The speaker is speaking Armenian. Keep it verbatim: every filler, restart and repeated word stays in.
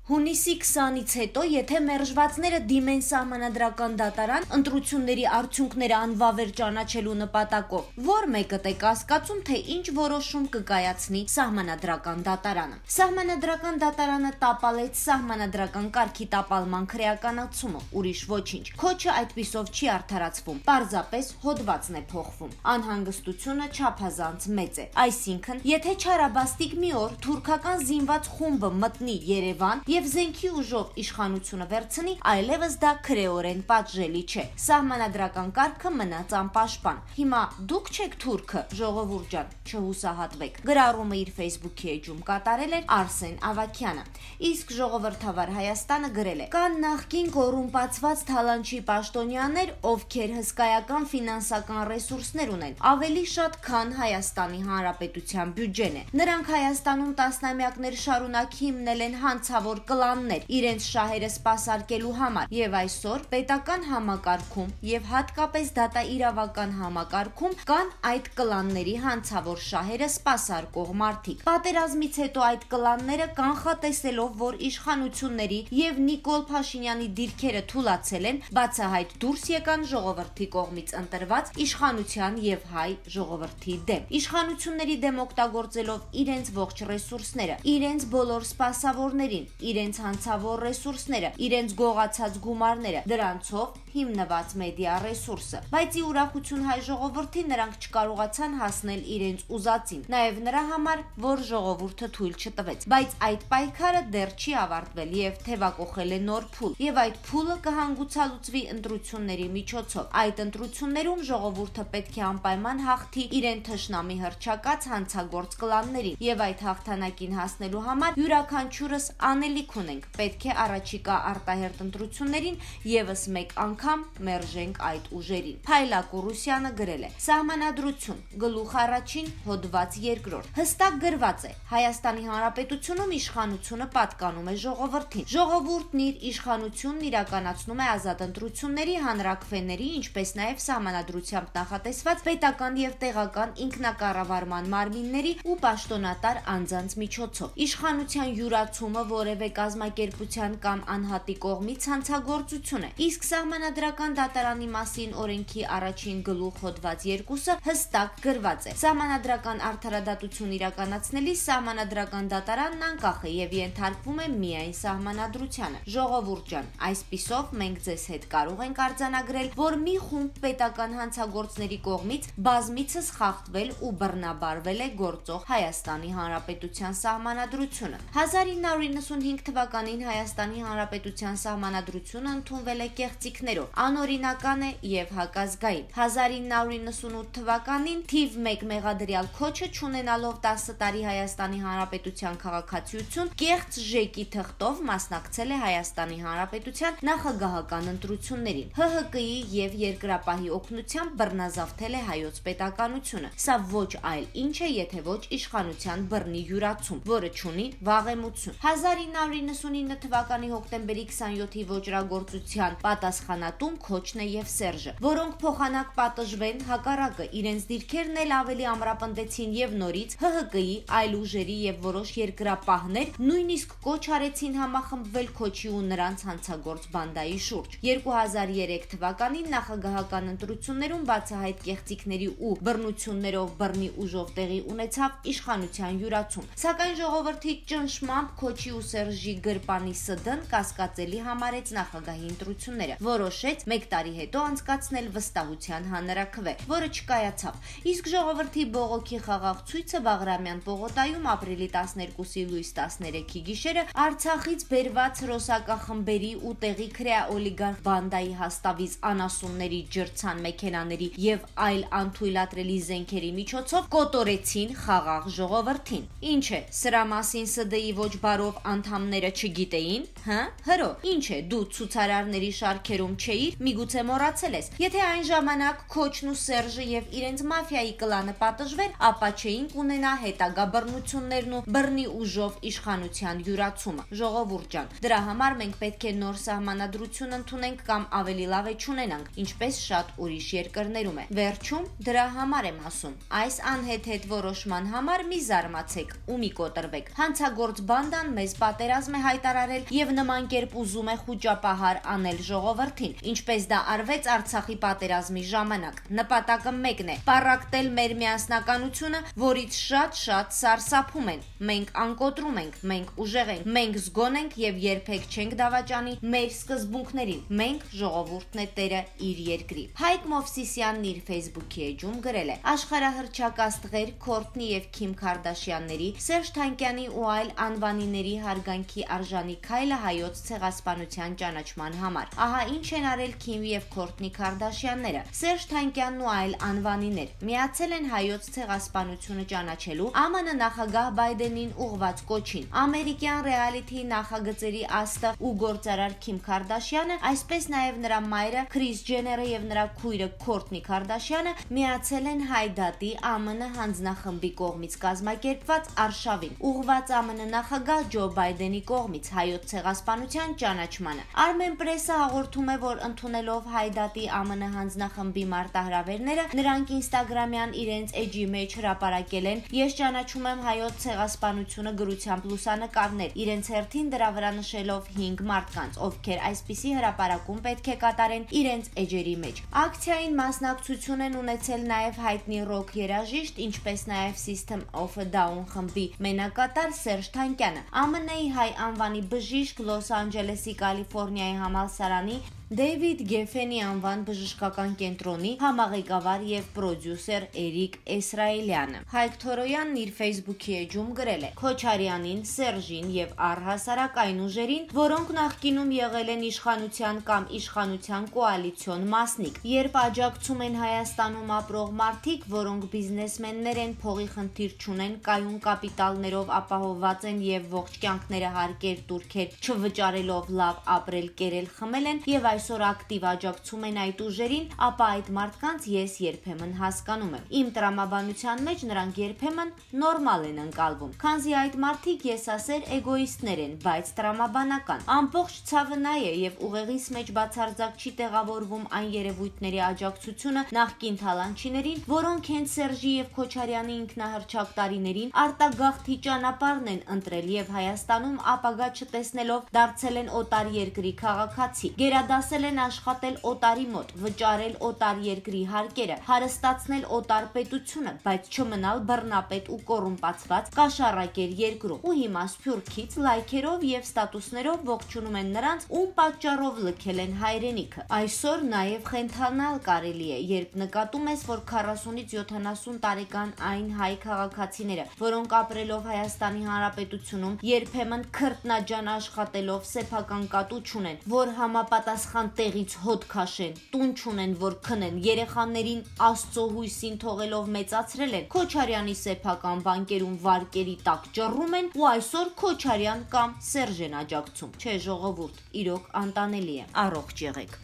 Հունիսի քսանից հետո, եթե մերժվածները դիմեն սահմանադրական դատարան ընտրությունների արդյունքները անվավեր ճանաչելու նպատակով, որ մեկը է կասկածում, թե ինչ որոշում կկայացնի սահմանադրական դատարանը։ Սահմանադրական դատարանը տապալեց սահմանադրական կարգի տապալման քրեականացումը, ուրիշ ոչինչ։ Քոչը այդպիսով չի արդարացվում, պարզապես հոդվածն է փոխվում։ Անհանգստությունը չափազանց մեծ է։ Այսինքն, եթե չարաբաստիկ մի օր թուրքական զինված խումբը մտնի Երևան եւ զենքի ուժով իշխանությունը վերցնի, այլևս դա քրեորեն պատժելի չէ։ Սահմանադրական կարգը մնաց անպաշտպան։ Հիմա դուք չեք թուրքը, ժողովուրդ ջան, չհուսահատվեք։ Գրառումը իր Facebook-ի էջում կատարել էր Արսեն Ավագյանը։ Իսկ ժողովրդավար Հայաստանը գրել է. կան նախկին կոռումպացված թալանչի պաշտոնյաներ, ովքեր հսկայական ֆինանսական ռեսուրսներ ունեն, ավելի շատ, քան Հայաստանի Հանրապետության բյուջեն է։ Նրանք Հայաստանում տասնամյակներ շարունակ հիմնել են հանցավոր կլաններ իրենց շահերը սպասարկելու համար, եւ այսօր պետական համակարգում եւ հատկապես դատաիրավական համակարգում կան այդ կլանների հանցավոր շահերը սպասարկող մարդիկ։ Պատերազմից հետո այդ կլանները կանխատեսելով, որ իշխանությունների եւ Նիկոլ Փաշինյանի դիրքերը թուլացել են, բացահայտ դուրս եկան ժողովրդի կողմից ընտրված իշխանության եւ հայ ժողովրդի դեմ։ Իշխանությունների դեմ օգտագործելով իրենց ողջ ռեսուրսները, իրենց բոլոր սպասավորներին, իրենց հանցավոր ռեսուրսները, իրենց գողացած գումարները, դրանցով հիմնված մեդիա ռեսուրսը։ Բայց ի ուրախություն հայ ժողովրդի նրանք չկարողացան հասնել իրենց ուզածին, նաև նրա համար, որ ժողովուրդը թույլ չտվեց։ Բայց այդ պայքարը դեռ չի ավարտվել եւ թևակողել է նոր փուլ, եւ այդ փուլը կհանգուցալուծվի ընտրությունների միջոցով։ Այդ ընտրություններում ժողովուրդը պետք է անպայման հաղթի իրեն թշնամի հռչակած հանցագործ կլաններին, եւ այդ հաղթանակին հասնելու համար յուրաքանչյուրս անելիք ունենք։ Պետք է առաջիկա արտահերտ ընտրություններին եւս մեկ անգամ մերժենք այդ ուժերին։ Փայլակ Ռուսյանը գրել է. Սահմանադրություն, գլուխ առաջին, հոդված երկրորդ։ Հստակ գրված է. Հայաստանի Հանրապետությունում իշխանությունը պատկանում է ժողովրդին։ Ժողովուրդն իր իշխանությունն իրականացնում է ազատ ընտրությունների, հանրաքվեների, ինչպես նաև սահմանադրությամբ նախատեսված պետական եւ տեղական ինքնակառավարման մարմինների ու պաշտոնատար անձանց միջոցով։ Իշխանության յուրացումը որևէ կազմակերպության կամ անհատի կողմից հանցագործություն է։ Իսկ սահմանադրական դատարանի մասին օրենքի առաջին գլուխ հոդված երկուսը հստակ գրված է. Սահմանադրական արդարադատություն իրականացնելիս սահմանադրական դատարանն անկախ է եւ ենթարկվում է միայն սահմանադրությանը։ Ժողովուրդ ջան, այսպիսով մենք ձեզ հետ կարող ենք արձանագրել, որ մի խումբ պետական հանցագործների կողմից բազմիցս խախտվել ու բռնաբարվել է գործող Հայաստանի Հանրապետության սահմանադրությունը։ հազար ինը հարյուր իննսունհինգ թվականին Հայաստանի Հանրապետության սահմանադրությունը ընդունվել է կեղծիքներով, անօրինական է եւ հակազգային։ հազար ինը հարյուր իննսունութ թվականին թիվ մեկ մեղադրյալ Քոչը չունենալով տասը տարի Հայաստանի Հանրապետության քաղաքացիություն, կեղծ ժեկի թղթով մասնակցել է Հայաստանի Հանրապետության նախագահական ընտրություններին։ Հ Հ Կի եւ երկրապահի օգնությամբ բռնազավթել է հայոց պետականությունը։ Սա ոչ այլ ինչ է, եթե ոչ իշխանության բռնի յուրացում, որը չունի վաղեմություն։ հազար ինը հարյուր իննսունինը թվականի հոկտեմբերի քսանյոթի ոճրագործության պատասխանատուն Քոչն է եւ Սերժը, որոնք փոխանակ պատժվեն, հակառակը իրենց դիրքերն էլ ավելի ամրապնդեցին եւ նորից Հ Հ Կի այլ ուժերի եւ որոշ երկրապահներ նույնիսկ կոչ արեցին համախմբվել Քոչի ու նրանց հանցագործ բանդայի շուրջ։ երկու հազար երեք թվականին նախագահական ընտրություններում բացահայտ կեղծիքների ու բռնություններով բռնի ուժով տեղի ունեցավ իշխանության յուրացում։ Սակայն ժողովրդի ճնշմամբ Քոչի ու Սերժի գրպանի Ս Դ-ն կասկածելի համարեց նախագահի ընտրությունները, որոշեց մեկ տարի հետո անցկացնել վստահության հանրաքվե, որը չկայացավ։ Իսկ ժողովրդի բողոքի խաղաղ ցույցը Բաղրամյան պողոտայում ապրիլի տասներկուսի լույս տասներեքի գիշերը Արցախից բերված ռոսակախմբերի ու տեղի քրեաօլիգարխ բանդայի հաստավիզ անասունների, ջրցան մեքենաների եւ այլ անթույլատրելի զենքերի միջոցով կոտորեցին խաղաղ ժողովրդին։ Ինչ է, սրա մասին Ս Դ-ի ոչ բարով անդամները չգիտեին, հա՞։ Հրո, ինչ է, դու ցուցարարների շարքերում չէիր, միգուցե մոռացել ես։ Եթե այն ժամանակ Քոչն ու Սերժը եւ իրենց մաֆիայի կլանը պատժվեր, ապա չէինք ունենա հետագա բռնություններն ու բռնի ուժով իշխանության յուրացումը։ Ժողովուրդ ջան, դրա համար մենք պետք է նոր սահմանադրություն ընդունենք կամ ավելի լավ է չունենանք, ինչպես շատ ուրիշ երկրներում է։ Վերջում դրա համար եմ ասում, այս անհեթեթ որոշման համար մի զարմացեք ու մի կոտրվեք։ Հանցագործ բանդան մեզ պատերազմ պատերազմ է հայտարարել եւ նման կերպ ուզում է խուճապահար անել ժողովրդին, ինչպես դա արվեց Արցախի պատերազմի ժամանակ։ Նպատակը մեկն է՝ պառակտել մեր միասնականությունը, որից շատ-շատ սարսափում են։ Մենք անկոտրում ենք, մենք ուժեղ ենք, մենք զգոն ենք եւ երբեք չենք դավաճանի մեր սկզբունքներին։ Մենք ժողովուրդն է տերը իր երկրի։ Հայկ Մովսիսյանն իր Facebook-ի էջում գրել է. աշխարհահռչակ աստղեր Քորթնի եւ Քիմ Քարդաշյանների, Սերժ Թանկյանի ու այլ անվանիների հարգանքի արժանի քայլը հայոց ցեղասպանության ճանաչման համար։ Ահա ինչ են արել Քիմ եւ Քորթնի Քարդաշյանները։ Սերժ Թանկյանն ու այլ անվանիներ միացել են հայոց ցեղասպանությունը ճանաչելու Α M N նախագահ Բայդենին ուղղված կոչին։ Ամերիկյան ռեալիթի նախագծերի աստղ ու գործարար Քիմ Քարդաշյանը, այսպես նաեւ նրա մայրը Քրիս Ջեները եւ նրա քույրը Քորթնի Քարդաշյանը միացել են Հայդատի Α M N հանձնախմբի կողմից կազմակերպված արշավին, ուղղված Α M N նախագահ Ջո Բայդենի կողմից հայոց ցեղասպանության ճանաչմանը։ Armenpress-ը հաղորդում է, որ ընդունելով Հայդատի Α M N հանձնախմբի մարտահրավերները, նրանք Instagram-յան իրենց էջի մեջ հրապարակել են «Ես ճանաչում եմ հայոց ցեղասպանությունը» գրությամբ լուսանկարներ, իրենց հերթին դրա վրա նշելով հինգ մարդկանց, ովքեր այսպիսի հրապարակում պետք է կատարեն իրենց էջերի մեջ։ Ակցիային մասնակցություն են ունեցել նաև հայտնի ռոք երաժիշտ, ինչպես նաև System of a Down խմբի մենակատար Սերժ Թանկյանը, Α M N-ի հայ անվանի բժիշկ, Լոս Անջելեսի Կալիֆոռնիայի համալսարանի Դեյվիդ Գեֆենի անվան բժշկական կենտրոնի համաղեկավար եւ պրոդյուսեր Էրիկ Էսրայելյանը։ Հայկ Թորոյանն իր Facebook-ի էջում գրել է. Քոչարյանին, Սերժին եւ առհասարակ այն ուժերին, որոնք նախկինում եղել են իշխանության կամ իշխանության կոալիցիոն մասնիկ, երբ աջակցում են Հայաստանում ապրող մարդիկ, որոնք բիզնեսմեններ են, փողի խնդիր չունեն, կայուն կապիտալներով ապահովված են եւ ողջ կյանքները հարկեր турքեր չվճարելով լավ ապրել, կերել, խմել են եւ այսօր ակտիվ աջակցում են այդ ուժերին, ապա այդ մարդկանց ես երբեմն հասկանում եմ։ Իմ տրամաբանության մեջ նրանք երբեմն նորմալ են ընկալվում, քանզի այդ մարդիկ եսասեր էգոիստներ են, բայց տրամաբանական։ Ամբողջ ցավը նա է եւ ուղեղիս մեջ բացարձակ չի տեղավորվում այն երևույթների աջակցությունը նախկին թալանչիներին, որոնք հենց Սերժի եւ Քոչարյանի ինքնահռչակ տարիներին արտագաղթի ճանապարհն են ընտրել եւ Հայաստանում ապագա չտեսնելով դարձել են օտար երկրի քաղաքացի, գերադասել են աշխատել օտարի մոտ, վճարել օտար երկրի հարկերը, հարստացնել օտար պետությունը, բայց չմնալ բռնապետ ու կոռումպացված կաշառակեր երկրում։ Ու հիմա սփյուռքից լայքերով եւ ստատուսներով ողջունում են նրանց, ում պատճառով լքել են հայրենիքը։ Այսօր նաեւ խենթանալ կարելի է, երբ նկատում ես, որ քառասունից յոթանասուն տարեկան այն հայ քաղաքացիները, որոնք ապրելով Հայաստանի Հանրապետությունում երբեմն քրտնաջան աշխատելով սեփական կատու չունեն, որ համապատասխան տեղից հոտ քաշեն, տուն չունեն, որ քնեն, երեխաներին Աստծո հույսին թողելով մեծացրել են, Քոչարյանի սեփական բանկերում վարկերի տակ ճռռում են ու այսօր Քոչարյան կամ Սերժ են աջակցում։ Չէ, ժողովուրդ, իրոք անտանելի է։ Առողջ եղեք։